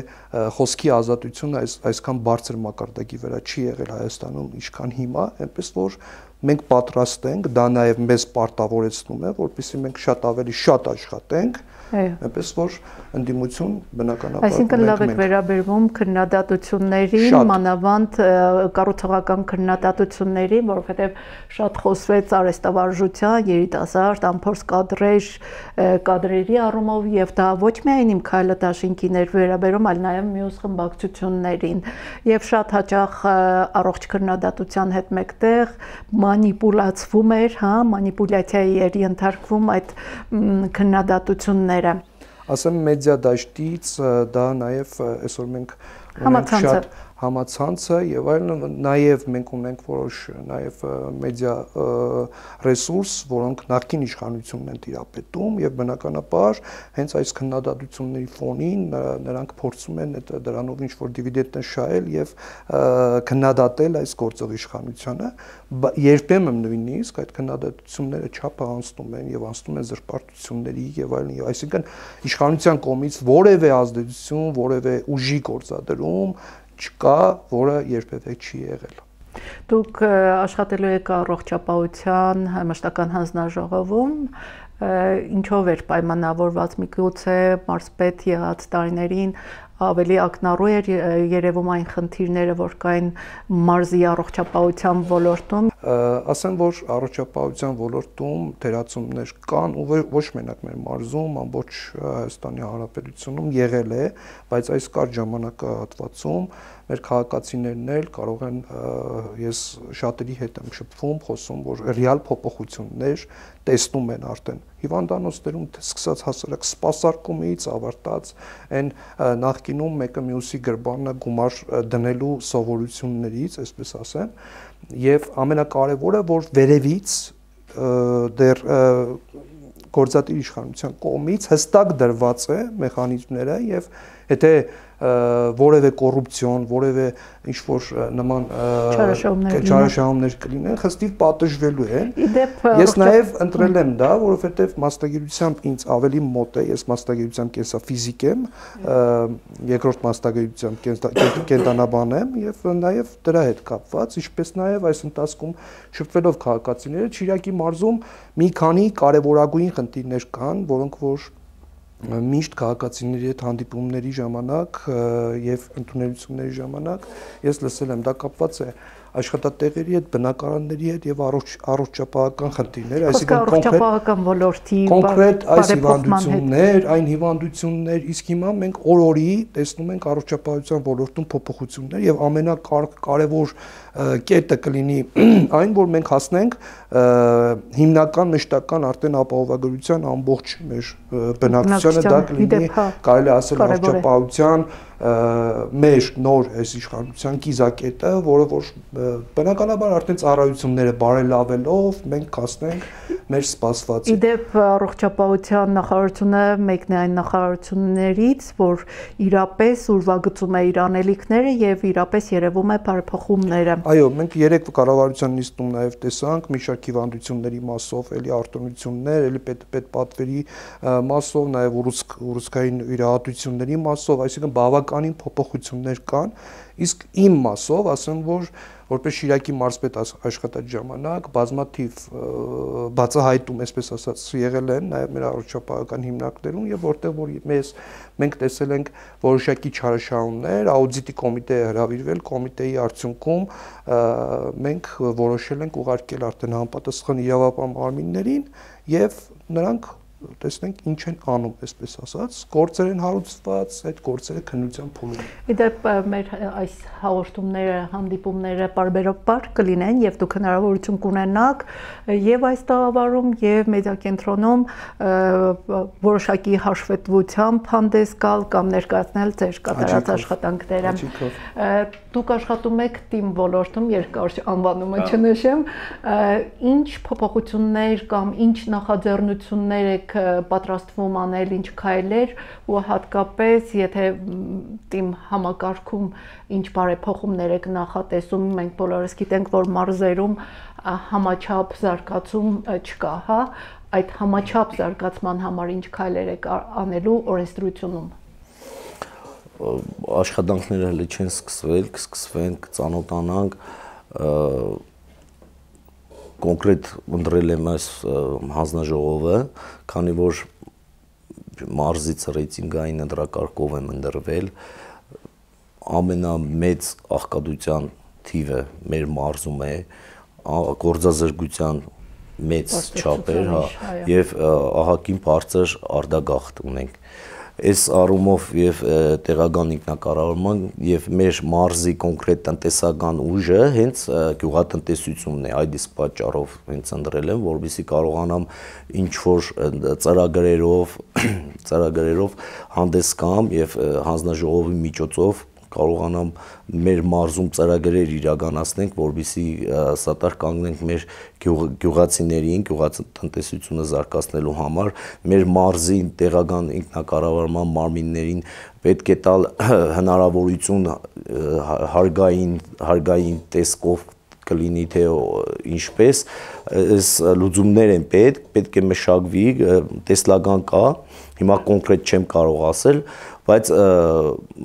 Speaker 2: խոսքի ազատությունը այսքան բարձր մակարդակի վրա չի եղել Հայաստանում, ինչքան հիմա, այնպես որ մենք պատրաստ ենք, դա նաև մեզ պարտավորեցնում է, որպեսզի մենք շատ ավելի շատ աշխատենք, այնպես որ ընդդիմություն բնականաբար։
Speaker 1: Այսինքն լավ եք վերաբերվում քննադատություններին, մանավանդ կառուցողական քննադատություններին, որովհետև շատ խոսվեց արհեստավարժության, երիտասարդ, անփորձ կադրերի առումով եւ դա ոչ միայն իմ քայլը դաշինքին էր վերաբերում, այլ նաեւ մյուս խմբակցություններին եւ շատ հաճախ առողջ քննադատության հետ մեկտեղ մանիպուլացվում էր, մանիպուլյացիայի էր ենթարկվում այդ քննադատությունները։
Speaker 2: Ասեմ մեդիա դաշտից դա նաև այսօր մենք ունենք շատ համացանցը եւ այլն, նաև մենք ունենք որոշ նաև մեդիա ռեսուրս, որոնք նախկին իշխանությունն են տիրապետում եւ բնականաբար հենց այս քննադատությունների ֆոնին նրանք փորձում են դրանով ինչ որ դիվիդենդ նշել եւ քննադատել այս գործող իշխանությանը, երբեմն նույնիսկ այդ քննադատությունները չափը անցնում են եւ անցնում են զրպարտությունների եւ այլն, այսինքն իշխանության կողմից որևէ ազդեցություն, որևէ ուժի գործադրում չկա, որը երբևէ չի եղել։
Speaker 1: Դուք աշխատելու եք առողջապահության մշտական հանձնաժողովում, ինչով էր պայմանավորված, միգուցե մարզպետ եղած տարիներին ավելի ակնառու էր երևում այն խնդիրները, որ կային մարզի առողջապահության ոլորտում։
Speaker 2: Ասեմ, որ առողջապահության ոլորտում թերացումներ կան ու ոչ մենակ մեր մարզում, ամբողջ Հայաստանի Հանրապետությունում եղել է, բայց այս կարճ ժամանակահատվածում մեր քաղաքացիներն էլ կարող են, ես շատերի հետ եմ շփվում, խոսում, որ ռեալ փոփոխություններ տեսնում են արդեն հիվանդանոցներում, սկսած հասարակ սպասարկումից ավարտած այն նախկինում մեկը մյուսի գրբանը գումար դնելու սովորություններից, այսպես ասեմ, եւ ամենակարևորը, որ վերևից դեռ գործադիր իշխանության կողմից հստակ դրված է մեխանիզմները եւ եթե որևէ կոռուպցիոն, որևէ ինչ որ նման չարաշահումներ կլինեն, խստիվ պատժվելու են։ Ես նաև ընտրել եմ դա, որովհետև մասնագիտությամբ ինձ ավելի մոտ է, ես մասնագիտությամբ կենսաֆիզիկ եմ, երկրորդ մասնագիտությամբ կենտրոնաբան եմ եւ նաև դրա հետ կապված, ինչպես նաև այս ընթացքում շփվելով քաղաքացիները Շիրակի մարզում մի քանի կարևորագույն խնդիրներ կան, որոնք որ միշտ քաղաքացիների հետ հանդիպումների ժամանակ եւ ընդունելությունների ժամանակ ես լսել եմ, դա կապված է աշխատատեղերի հետ, բնակարանների հետ եւ առողջապահական խնդիրներ, այսինքն
Speaker 1: առողջապահական ոլորտի
Speaker 2: կոնկրետ այս հիվանդություններ, այն հիվանդություններ, իսկ հիմա մենք օր-օրի տեսնում ենք առողջապահության ոլորտում փոփոխություններ եւ ամենակարևոր կետը կլինի այն, որ մենք հասնենք հիմնական մշտական արդեն ապահովագրության ամբողջ մեր բնակչությանը, դա կլինի կարելի ասել առողջապահության մեր նոր այս իշխանության կիզակետը, որը որ բնականաբար արդեն ծառայությունները բարելավելով մենք կասնենք մեր սպասվածին։
Speaker 1: Իդեպ առողջապահության նախարարությունը մեկն է այն նախարարություններից, որ իրապես ուրվագծում է իր անելիքները եւ իրապես երևում է բարեփոխումները։
Speaker 2: Այո, մենք երեք կառավարության նիստում նաև տեսանք մի շարք հիվանդությունների մասով, էլի արտոնություններ, էլի պետպատվերի մասով, նաև ուռուցքային վիրահատությունների մասով, այսինքն բավականին փոփոխություններ կան, իսկ իմ մասով ասեմ, որ որպես Շիրակի մարզպետ աշխատած ժամանակ բազմաթիվ բացահայտում, այսպես ասած, եղել են նաև մեր առողջապահական հիմնարկներում եւ որտեղ որ մենք տեսել ենք որոշակի չարաշահումներ, աուդիտի կոմիտե է հրավիրվել, կոմիտեի արդյունքում մենք որոշել ենք ուղարկել արդեն համապատասխան իրավապահ մարմիններին եւ նրանք տեսնենք ինչ են անում, այսպես ասած, գործեր են հարուցված, այդ գործերը քննության փուլում։
Speaker 1: Իդեպ մեր այս հաղորդումները, հանդիպումները բարբերաբար կլինեն եւ դուք հնարավորություն կունենաք եւ այս տաղավարում եւ մեդիակենտրոնում որոշակի հաշվետվությամբ հանդես գալ կամ ներկայացնել ձեր կատարած աշխատանքները։ Դուք աշխատում եք թիմ ոլորտում, երկար անվանումը չնշեմ, ինչ փոփոխություններ կամ ինչ նախաձեռնություններ եք պատրաստվում անել, ինչ քայլեր ու հատկապես եթե թիմ համակարգում ինչ բարեփոխումներ եք նախատեսում, մենք բոլորս գիտենք, որ մարզերում համաչափ զարգացում չկա, հա, այդ համաչափ զարգացման համար ինչ քայլեր եք անելու օրենսդրությունում։
Speaker 3: Աշխատանքները հələ չեն սկսվել, կսկսվեն, կծանոթանանք, կոնկրետ ընտրել եմ այս հանձնաժողովը, քանի որ մարզից ռեյտինգային ընտրակարգով եմ ընտրվել, ամենամեծ աղքատության թիվը մեր մարզում է, գործազրկության մեծ չափեր, եւ ահագին բարձր արտագաղթ ունենք։ Այս առումով եւ տեղական ինքնակառավարման եւ մեր մարզի կոնկրետ տնտեսական ուժը հենց գյուղատնտեսությունն է, այդ իսկ պատճառով հենց ընտրել եմ, որովհետեւ կարողանամ ինչ որ ծրագրերով հանդես գամ եւ հանձնաժողովի միջոցով կարողանամ մեր մարզում ծրագրեր իրականացնենք, որովհետեւ սատար կանգնենք մեր գյուղացիներին, գյուղատնտեսությունը զարգացնելու համար, մեր մարզի տեղական ինքնակառավարման մարմիններին պետք է տալ հնարավորություն հարգային տեսքով կլինի թե ինչպես, այս լուծումներ են պետք է մշակվի, տեսլական կա, հիմա կոնկրետ չեմ կարող ասել, բայց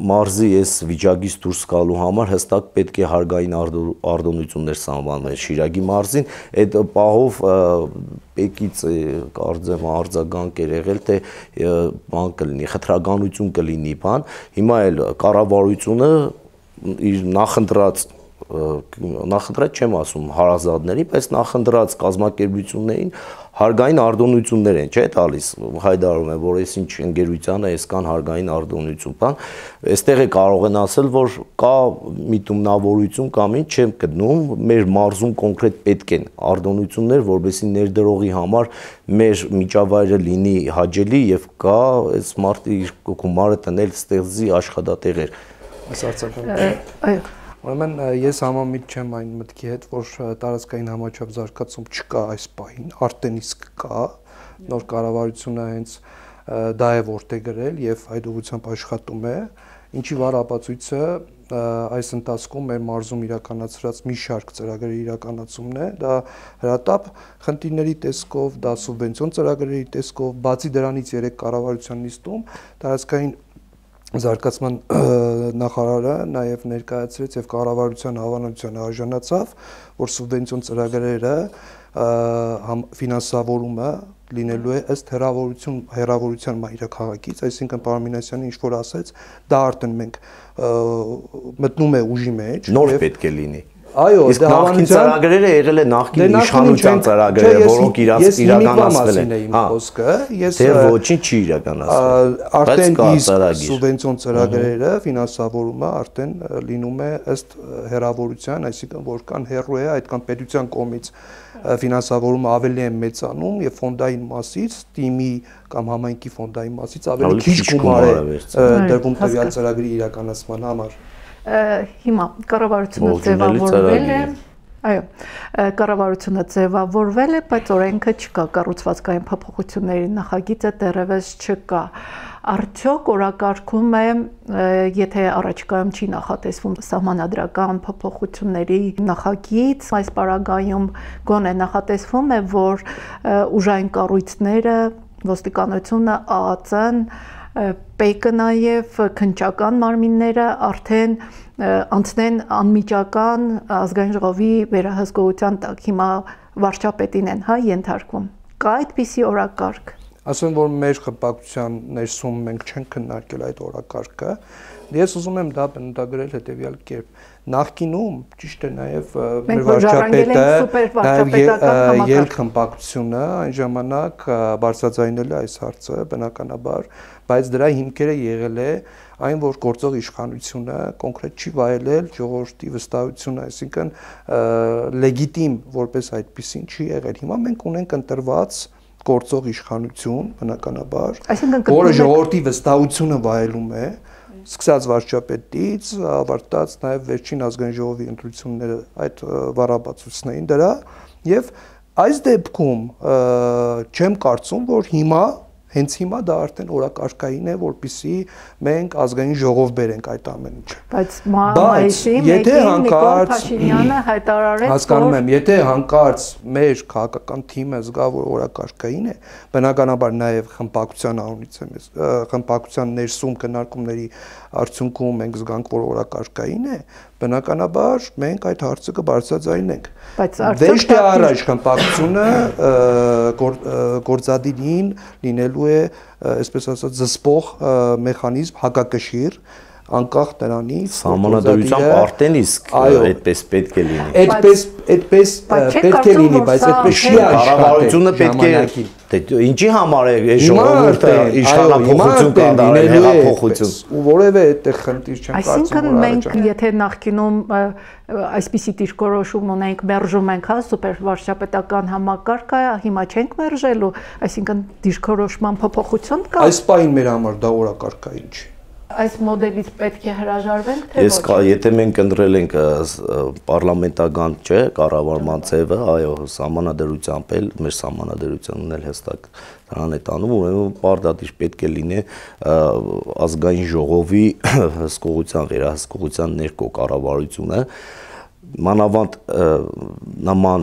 Speaker 3: մարզի այս վիճակից դուրս գալու համար հստակ պետք է հարգային արտոնություններ սահմանվել Շիրակի մարզին, այդ պահով պեկից կարծեմ արձագանք էր եղել, թե բան կլինի, խտրականություն կլինի բան, հիմա էլ կառավարությունը իր նախընտրած չեմ ասում հարազատների, բայց նախընտրած կազմակերպություններին հարգային արտոնություններ են, չէ՞ տալիս, հայտարարում է, որ այսինչ ընկերությանը այսքան հարգային արտոնություն բան, այստեղ է կարող են ասել, որ կա միտումնավորություն կամ ինչ չեմ գտնում, մեր մարզում կոնկրետ պետք են արտոնություններ, որովհետեւ ներդրողի համար մեր միջավայրը լինի հաճելի եւ կա այս մարդը իր գումարը տնել ստեղծի աշխատատեղեր։
Speaker 1: Այո։
Speaker 2: Ուրեմն ես համամիտ չեմ այն մտքի հետ, որ տարածքային համաչափ զարգացում չկա այս պահին, արդեն իսկ կա, նոր կառավարությունը հենց դա է որտեղ գրել եւ այդ ուղղությամբ աշխատում է ինչի վառ ապացույցը այս ընթացքում մեր մարզում իրականացրած մի շարք ծրագրերի իրականացումն է, դա հրատապ խնդիրների տեսքով, դա սուբվենցիոն ծրագրերի տեսքով, բացի դրանից 3 կառավարության նիստում տարածքային զարգացման նախարարը նաև ներկայացրեց եւ կառավարության հավանության արժանացավ, որ սուբվենցիոն ծրագրերը ֆինանսավորումը լինելու է ըստ հեռավորության մայրաքաղաքից, այսինքն պարոն Մինասյանը ինչ որ ասեց, դա արդեն մենք մտնում է ուժի մեջ,
Speaker 3: նոր պետք է լինի։
Speaker 2: Այո,
Speaker 3: իսկ նախկին ծրագրերը եղել է նախկին իշխանության ծրագրերը, որոնք իրականացվել են։ Դեռ ոչինչ չի իրականացվել։
Speaker 2: Արդեն իսկ սուբվենցիոն ծրագրերը ֆինանսավորումը արդեն լինում է ըստ հեռավորության, այսինքն որքան հեռու է, այդքան պետության կողմից ֆինանսավորումը ավելի է մեծանում եւ ֆոնդային մասից, թիմի կամ համայնքի ֆոնդային մասից ավելի քիչ գումար է դրվում տվյալ ծրագրի իրականացման համար։
Speaker 1: Հիմա կառավարությունը ձևավորվել է, այո, կառավարությունը ձևավորվել է, բայց օրենքը չկա, կառուցվածքային փոփոխությունների նախագիծը դեռևս չկա։ Արդյոք օրակարգում է, եթե առաջիկայում չի նախատեսվում սահմանադրական փոփոխությունների նախագիծ, այս պարագայում գոնե նախատեսվում է, որ ուժային կառույցները, ոստիկանությունը, ԱԱԾ-ն, ՊԵԿ-ը նաև քննչական մարմինները արդեն անցնեն անմիջական ազգային ժողովի վերահսկողության տակ, հիմա վարչապետին են ենթարկվում։ Կա այդպիսի օրակարգ։
Speaker 2: Ասեմ, որ մեր խմբակցության ներսում մենք չենք քննարկել այդ օրակարգը։ Ես ուզում եմ դա բնութագրել հետևյալ կերպ։ Նախկինում ճիշտ է նաև մեր վարչապետը, նաև ելք խմբակցությունը այն ժամանակ բարձրաձայնել է այս հարցը բնականաբար, բայց դրա հիմքերը եղել է այն, որ գործող իշխանությունը կոնկրետ չի վայելել ժողովրդի վստահությունը, այսինքն լեգիտիմ որպես այդպեսին չի եղել։ Հիմա մենք ունենք ընտրված գործող իշխանություն, բնականաբար, որը ժողովրդի վստահությունը վայելում է, սկսած վարչապետից, ավարտած նաև վերջին ազգային ժողովի ընտրությունները այդ վառապացույցն էին դրա, եւ այս դեպքում չեմ կարծում, որ հիմա հենց հիմա դա արդեն օրակարգային է, որպեսզի մենք ազգային ժողով բերենք այդ ամեն ինչը։
Speaker 1: Բայց մայիսի 1-ին Նիկոլ Փաշինյանը հայտարարեց,
Speaker 2: հասկանում եմ, եթե հանկարծ մեր քաղաքական թիմը զգա, որ օրակարգային է, բնականաբար նաև խմբակցության անունից եմ, խմբակցության ներսում քննարկումների արդյունքում մենք զգանք, որ օրակարգային է, բնականաբար մենք այդ հարցը կբարձրաձայնենք։ Վերջ թե առաջ խմբակցությունը գործադիրին լինելու է, այսպես ասած, զսպող մեխանիզմ հակակշիռ, անկախ նրանից
Speaker 3: սահմանադրությամբ արդեն իսկ այդպես պետք է լինի։
Speaker 2: Այդպես պետք է լինի, բայց այդպես չի
Speaker 3: կառավարությունը պետք է ինչի համար է ժողովուրդը իշխանափոխություն կատարել, հեղափոխություն։
Speaker 2: Ու որևէ այդտեղ խնդիր չեմ կարծում։
Speaker 1: Այսինքն մենք եթե նախկինում այսպիսի դիրքորոշում ունենք, մերժում ենք սուպեր վարչապետական համակարգը, հիմա չենք մերժելու, այսինքն դիրքորոշման փոփոխություն կա։
Speaker 2: Այս պահին մեր համար դա օրակարգային չի։
Speaker 1: Այս մոդելից պետք է հրաժարվենք, թե ոչ։
Speaker 3: Եթե մենք ընտրել ենք պարլամենտական, չէ, կառավարման ձևը, այո, սահմանադրությամբ էլ, մեր սահմանադրությունն էլ հստակ դրան է տանում, ուրեմն պարտադիր պետք է լինի ազգային ժողովի հսկողության, վերահսկողության ներքո կառավարությունը, մանավանդ նման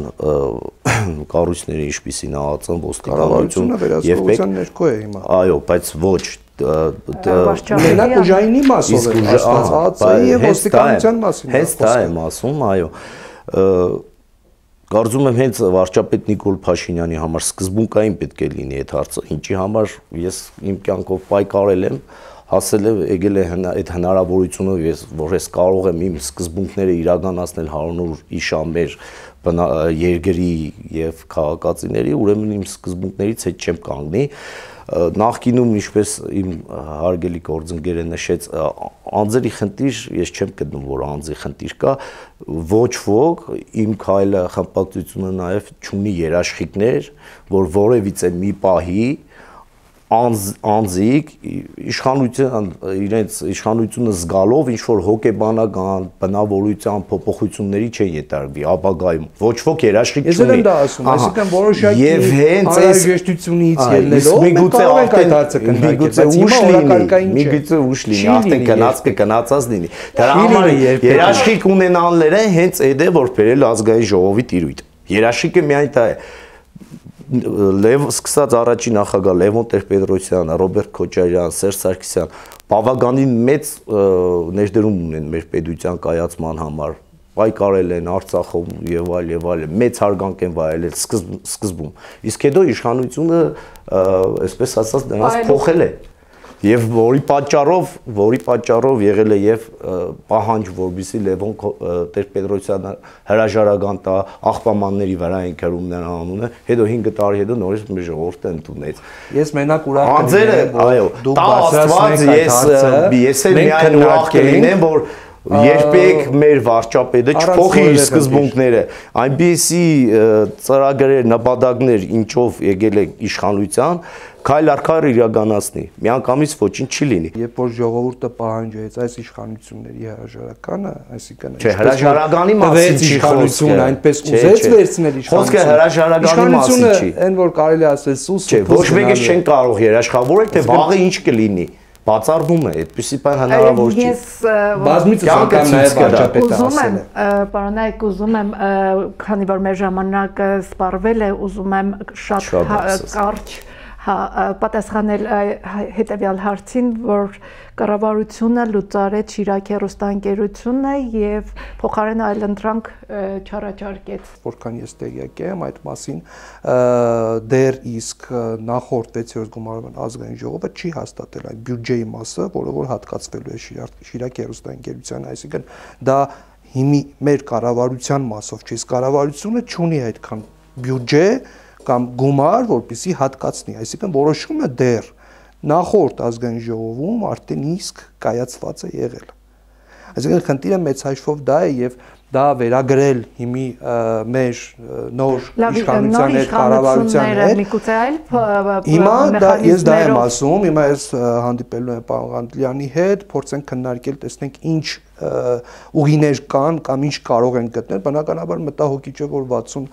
Speaker 3: կառույցների ինչպիսին ԱԱԾ-ն, ոստիկանությունը
Speaker 2: եւ ՊԵԿ-ն ներքո է հիմա։
Speaker 3: Այո, բայց ոչ
Speaker 2: մենակ ուժայինի մասով է ասված ԱԱԾ-ի եւ ոստիկանության մասին։
Speaker 3: Հենց դա եմ ասում, այո։ Կարծում եմ հենց վարչապետ Նիկոլ Փաշինյանի համար սկզբունքային պետք է լինի այդ հարցը, ինչի համար ես իմ կյանքով պայքարել եմ, հասել եմ, եկել է այդ հնարավորությունը, որ ես կարող եմ իմ սկզբունքները իրականացնել հանուն իշամեր երկրի եւ քաղաքացիների, ուրեմն իմ սկզբունքներից հետ չեմ կանգնի։ Նախկինում ինչպես իմ հարգելի գործընկերը նշեց, անձերի խնդիր ես չեմ գտնում, որ անձի խնդիր կա, ոչ ոք իմ քայլը խմբակցությունը նաև չունի երաշխիքներ, որ որևիցե մի պահի անձիկ իշխանության իրենց իշխանությունը զգալով ինչ որ հոգեբանական բնավորության փոփոխությունների չեն յետարվի ապագայում ոչ ոք երաշխիք չունի։
Speaker 2: Ես եմ դա ասում, այսինքն որոշակի անհրաժեշտությունից ելնելով մենք կարող ենք այդ հարցը քննարկել,
Speaker 3: միգուցե ուշ լինի, արդեն կնացած լինի։ Դրա համար երաշխիք ունենալները հենց այդ է որ բերել ազգային ժողովի տիրույթ։ Երաշխիքը միայն դա է։ Սկսած առաջին նախագահ Լևոն Տեր-Պետրոսյան, Ռոբերտ Քոչարյան, Սերժ Սարգսյան բավականին մեծ ներդրում ունեն մեր պետության կայացման համար, պայքարել են Արցախում եւ այլ, մեծ հարգանք են վայելել սկզբում։ Իսկ հետո իշխանությունը, այսպես ասած, նրանց փոխել է։ Եվ որի պատճառով եղել է եւ պահանջ, որբիսի Լևոն Տեր-Պետրոսյանը հրաժարական տա աղբամանների վրա են քրում նրան անունը, հետո 5 տարի հետո նորից մեր ժողովուրդը ընդունեց։
Speaker 2: Ես մենակ ուրախ
Speaker 3: կլինեմ, այո, տա Աստված, ես էլ միայն ուրախ կլինեմ, որ երբեք մեր վարչապետը չփոխի իր սկզբունքները, այնպիսի ծրագրեր, նպատակներ, ինչով եկել է իշխանության, քայլ առ քայլ իրականացնի, միանգամից ոչինչ չի լինի։
Speaker 2: Երբ որ ժողովուրդը պահանջեց այս իշխանությունների հրաժարականը, այսինքն
Speaker 3: չէ, հրաժարականի մասին չի
Speaker 2: խոսքը, այնպես ուզեց վերցնել իշխանությունը։
Speaker 3: Խոսքը հրաժարականի մասին չի։
Speaker 2: Այն որ կարելի ասել սուս
Speaker 3: չէ, ոչ մեկը չեն կարող երաշխավորել, թե վաղը ինչ կլինի։ Բացառվում է, այդպեսի բան հնարավոր չի։
Speaker 2: Բազմիցս անգամ նաև վարչապետը ասել է։
Speaker 1: Պարոնայք, ուզում եմ, քանի որ մեր ժամանակը սպառվել է, ուզում եմ շատ կարճ պատասխանել հետևյալ հարցին, որ կառավարությունը լուծարեց Շիրակ հեռուստաընկերությունը եւ փոխարեն այլընտրանք չառաջարկեց։
Speaker 2: Որքան ես տեղյակ եմ այդ մասին, դեռ իսկ նախորդ 6-րդ գումարման ազգային ժողովը չի հաստատել այն բյուջեի մասը, որը որ հատկացվելու է Շիրակ հեռուստաընկերությանը, այսինքն դա հիմի մեր կառավարության մասով չի, կառավարությունը չունի այդքան բյուջե կամ գումար, որպեսզի հատկացնի, այսինքն որոշումը դեռ նախորդ ազգային ժողովում արդեն իսկ կայացված է եղել։ Այսինքն խնդիրը մեծ հաշվով դա է եւ դա վերագրել հիմի մեր նոր իշխանության հետ կառավարության հետ։
Speaker 1: Միգուցե այլ
Speaker 2: հիմա ես դա եմ ասում, հիմա ես հանդիպելու եմ պարոն Ղանդլյանի հետ, փորձենք քննարկել, տեսնենք ինչ ուղիներ կան կամ ինչ կարող են գտնել, բնականաբար մտահոգիչ է, որ 60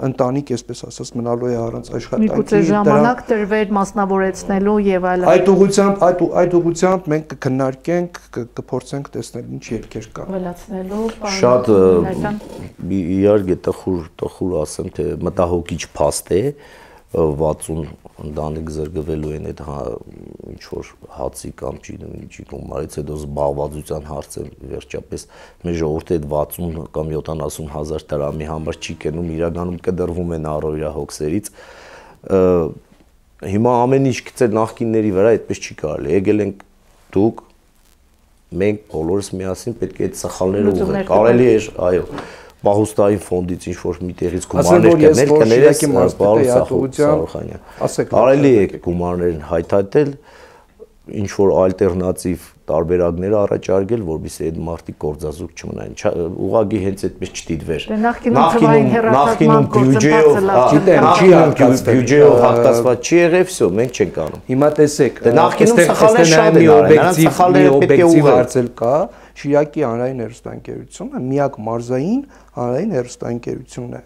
Speaker 2: ընտանիք, այսպես ասած, մնալու է առանց աշխատանքի։
Speaker 1: Միգուցե ժամանակ տրվեր մասնավորեցնելու եւ այլն։
Speaker 2: Այդ ուղղությամբ մենք կքննարկենք, կփորձենք տեսնել ինչ ելքեր կան։
Speaker 1: Ավելացնելու
Speaker 3: շատ իհարկե տխուր ասեմ, թե մտահոգիչ փաստ է 60 ընտանիք զրկվելու են այդ ինչ որ հացի կամ չգիտեմ գումարից, հետո զբաղվածության հարցը վերջապես մեր ժողովուրդը այդ 60 կամ 70 հազար դրամի համար չի կենում, իրականում կդրվում են առօրյա հոգսերից։ Հիմա ամեն ինչ գցել նախկինների վրա այդպես չի կարելի։ Եկել ենք դուք, մենք բոլորս միասին պետք է այդ սխալները ուղղենք։ Կարելի է, այո, Պահուստային ֆոնդից ինչ որ միտեղից գումարներ կներ, կներես պարոն Սարոխանյան։ Կարելի է գումարներին հայթայթել, ինչ որ ալտերնատիվ տարբերակներ առաջարկել, որովհետեւ այդ մարդիկ գործազուրկ չմնային։ Ուղղակի հենց այդպես չդիտվեր։ Նախկինում բյուջեով հատկացված չի եղել, վсё, մենք չենք անում։
Speaker 2: Հիմա տեսեք,
Speaker 3: նախկինում սխալներ շատ են արել,
Speaker 2: օբյեկտիվ հարցել կա, Շիրակի հանրային հեռուստաընկերությունը միակ մարզային հանրային հեռուստաընկերությունն է։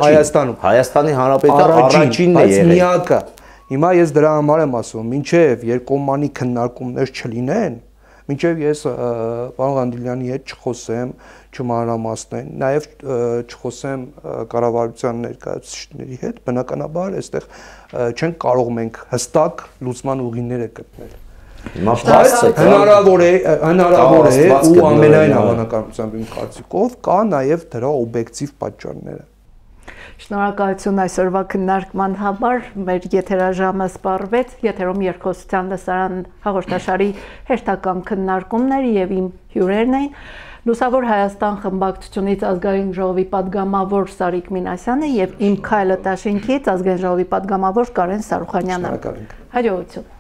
Speaker 3: Հայաստանում։ Հայաստանի Հանրապետության առաջինն է եղել։
Speaker 2: Միակը։ Հիմա ես դրա համար եմ ասում, մինչև երկկողմանի քննարկումներ չլինեն, մինչև ես պարոն Ղանդլյանի հետ չխոսեմ, չմանրամասնեն, նաև չխոսեմ կառավարության ներկայացուցիչների հետ, բնականաբար այստեղ չենք կարող մենք հստակ լուծման ուղիները գտնել։ Հնարավոր է ու ամենայն հավանականությամբ իմ կարծիքով կա նաև դրա օբյեկտիվ պատճառները։
Speaker 1: Շնորհակալություն այսօրվա քննարկման համար, մեր եթերաժամը սպառվեց, եթերում երկխոսության լսարան հաղորդաշարի հերթական քննարկումներ եւ իմ հյուրերն էին։ Լուսավոր Հայաստան խմբակցությունից ազգային ժողովի падգամավոր Սարիկ Մինասյանը եւ իմ քայլը Տաշինքից ազգային ժողովի падգամավոր Կարեն Սարուխանյանը։ Հաջողություն։